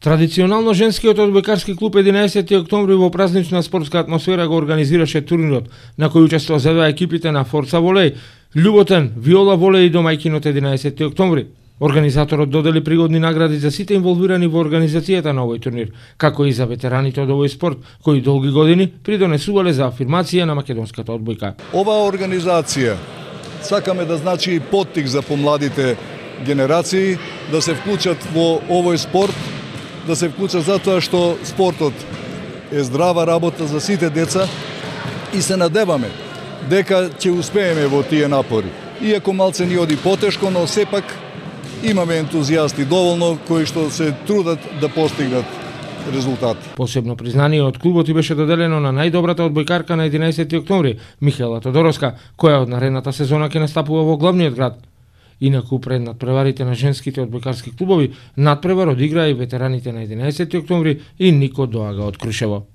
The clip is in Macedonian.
Традиционално женскиот одбојкарски клуб 11 октомври во празнична спортска атмосфера го организираше турнирот, на кој учествуваа екипите на Форца Волеј, Љуботен, Виола Волеј и домајкинот 11 октомври. Организаторот додели пригодни награди за сите инволвирани во организацијата на овој турнир, како и за ветераните од овој спорт, кои долги години придонесувале за афирмација на македонската одбојка. Оваа организација сакаме да значи поттик за помладите генерации да се вклучат во овој спорт, да се вклучат затоа што спортот е здрава работа за сите деца и се надеваме дека ќе успееме во тие напори. Иако малце ни оди потешко, но сепак имаме ентузијасти доволно кои што се трудат да постигнат резултат. Посебно признание од клубот и беше доделено на најдобрата одбојкарка на 11 октомври, Михаела Тодороска, која од наредната сезона ќе настапува во главниот град. Инаку пред надпреварите на женските одбојкарски клубови, надпревар одиграа и ветераните на 11 октомври и Нико Доага од Крушево.